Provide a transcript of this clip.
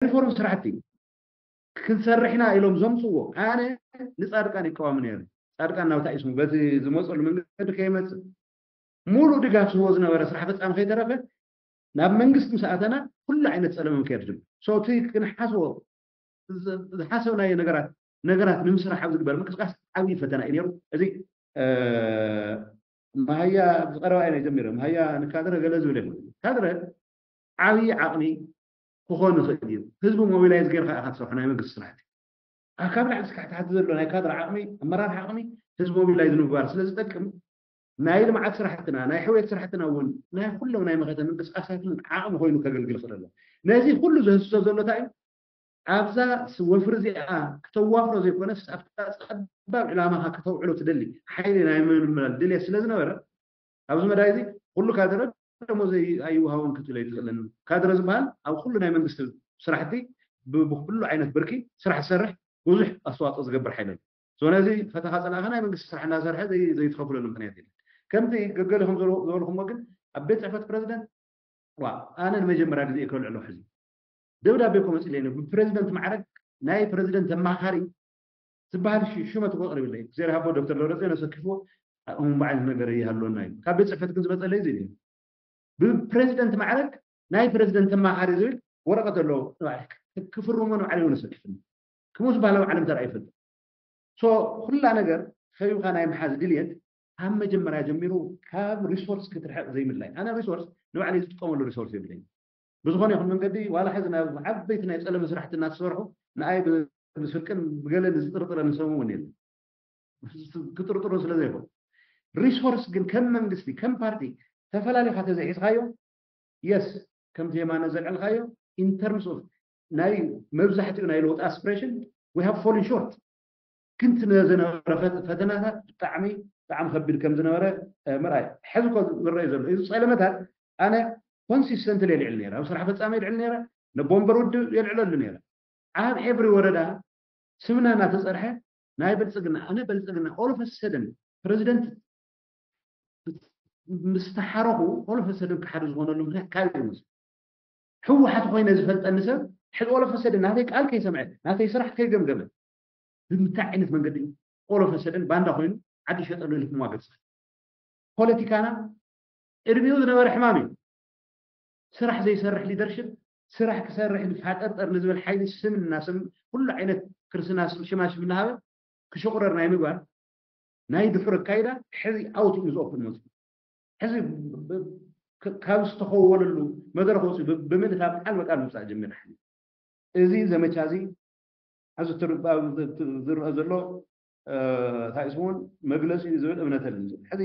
ሪፎርም ስራሕቲ ክንሰርሕ ኢና ኢሎም ዘምፅዎ፣ ኣነ ንፃድቃን ይቃወም ነይረ። ፃድቃን ናብታ እዩ ስሙ በቲ ዝመፀሉ መንገዲ ከይመፅእ ሙሉእ ድጋፍ ዝህቦ ዝነበረ ስራሕ ፈፃሚ ከይተረፈ ናብ መንግስቲ ምስ ኣተና ኩሉ ዓይነት ፀለመ ምክየድ ድም ሶቲ ክንሓስቦ ዝሓሰብናዮ ነገራት ነገራት ንምስራሕ ኣብ ዝግበር ምንቅስቃስ ዓብዪ ፈተና እዩ ነይሩ። እዚ መሃያ ዝቀረባ ኢና ጀሚረ መሃያ ንካድረ ገለ ዝብል የለን። ካድረ ዓብዪ ዓቕሚ ክኾን ይኽእል እዩ። ህዝቢ ሞቢላይዝ ጌርካ ኢኻ ትሰርሖ ናይ መንግስቲ ስራሕቲ። ኣብ ካብ ላዕሊ እስካዕ ታሕቲ ዘሎ ናይ ካድረ ዓቕሚ ኣመራርሓ ዓቕሚ ህዝቢ ሞቢላይዝ ንምግባር ስለ ዝጠቅም ናይ ልምዓት ስራሕትና ናይ ሕውየት ስራሕትና እውን ናይ ኩሎም ናይ መኸተ ምንቅስቃሳትን ዓቕሚ ኮይኑ ከገልግል ይኽእል ኣሎ። ነዚ ኩሉ ዘህስሶ ዘሎ እንታይ እዩ? ኣብዛ ወፍሪ እዚኣ ክተዋፍሮ ዘይኮነስ ኣብታ ፀባብ ዕላማኻ ከተውዕሎ ትደሊ ሓይሊ ናይ ምምልማል ድልየት ስለ ዝነበረ ኣብዚ መዳይ እዚ ኩሉ ካድረ ደሞዝ ኣይወሃቦን ክትብል ኣይትኽእልን። ካድረ ዝበሃል ኣብ ኩሉ ናይ መንግስቲ ስራሕቲ ብኩሉ ዓይነት ብርኪ ስራሕ ዝሰርሕ ብዙሕ ኣስተዋፅኦ ዝገብር ሓይሊ ኣሎ። ነዚ ፈተኻ ፀላእኻ ናይ መንግስቲ ስራሕ እናሰርሐ ዘይትኸፍለሉ ምክንያት የለን። ከምቲ ገገሊኹም ዝበልኩሞ ግን ኣብ ቤት ፅሕፈት ፕረዚደንት ዋ ኣነ ንመጀመርያ ግዜ ከልዕሎ ሕዚ ደብዳቤ እኮ መፅለይ ብፕረዚደንት ማዕረግ ናይ ፕረዚደንት ተማኻሪ ዝበሃል ሽመት እኮ ኣቕሪብለይ እግዚኣብሔር ሃቦ ዶክተር ደብረፅዮን ኣሰኪፍዎ እምባ ዓይነት ነገር ይሃልወና እዩ ካብ ቤት ፅሕፈት ግን ዝመፀለይ እዚ እዩ ብፕረዚደንት ማዕረግ ናይ ፕረዚደንት ተማኻሪ ዝብል ወረቐት ኣለዎ ክፍርሞ ንባዕለ እውን ኣሰኪፍኒ ክምኡ ዝበሃል ኣብ ዓለም ተረኣ ይፈልጥ ኩላ ነገር ከቢብካ ናይ ምሓዝ ድልየት ካብ መጀመርያ ጀሚሩ ካብ ሪሶርስ ክትርሕቕ ዘይምድላይ ኣነ ሪሶርስ ንባዕለ ዝጥቀመሉ ሪሶርስ የብለይ ብዝኾነ ይኹን መንገዲ ዋላ ሕዚ ናብ ዓበይቲ ናይ ፀለመ ስራሕቲ እናተሰርሑ ንኣይ ብስርቅን ብገለን ዝጥርጥረኒ ሰብ እውን የለን ክጥርጥሩ ስለ ዘይኮኑ ሪሶርስ ግን ከም መንግስቲ ከም ፓርቲ ተፈላሊካ ተዘይሒዝካዮ የስ ከምቲ የማነ ዘልዕልካዮ in terms of ናይ መብዛሕትኡ ናይ ለውጢ aspiration we have fallen short ክንቲ ዝነበረ ፈተናታት ብጣዕሚ ብጣዕሚ ከቢድ ከም ዝነበረ ምርኣይ ሕዚ ኮ ዝረኣዩ ዘሎ እዚ ፀለመታት ኣነ consistently የልዕል ነረ ኣብ ስራሕ ፈፃሚ የልዕል ነረ ነቦንበር ውድብ የልዕለሉ ነረ ኣብ every ወረዳ ስምና እናተፀርሐ ናይ ብልፅግና ኣነ ብልፅግና all of a sudden ፕረዚደንት ምስ ተሓረኹ all of a sudden ክሓደ ዝኾነሉ ምክንያት ካብ ይመስል ህወሓት ኮይነ ዝፈልጠኒ ሰብ ሕዚ all of a sudden ናተይ ቃል ከይሰምዐ ናተይ ስራሕ ከይገምገመ ብምንታይ ዓይነት መንገዲ እዩ all of a sudden ባንዳ ኮይኑ ዓዲ ሸጠሉ ኢሉ ክማገፅ ፖለቲካና ቅድሚኡ ዝነበረ ሕማም እዩ ስራሕ ዘይሰርሕ leadership ስራሕ ክሰርሕ ንፋጠርጠር ንዝብል ሓይሊ ስም እናስም ኩሉ ዓይነት ክርስትና ሽማሽም እናሃበ ክሽቁረር ናይ ምግባር ናይ ድሑር ኣካይዳ ሕዚ out in the open መፅኡ ሕዚ ካብ ዝተኸወለሉ መድረክ ወፂኡ ብምልእታ በዓል በቃል ምምፃእ ጀሚር እዚ ዘመቻ እዚ ኣብዚ ዝረአ ዘሎ እንታይ ስሙን መግለፂ እዩ ዝብል እምነት ኣለኒ ሕዚ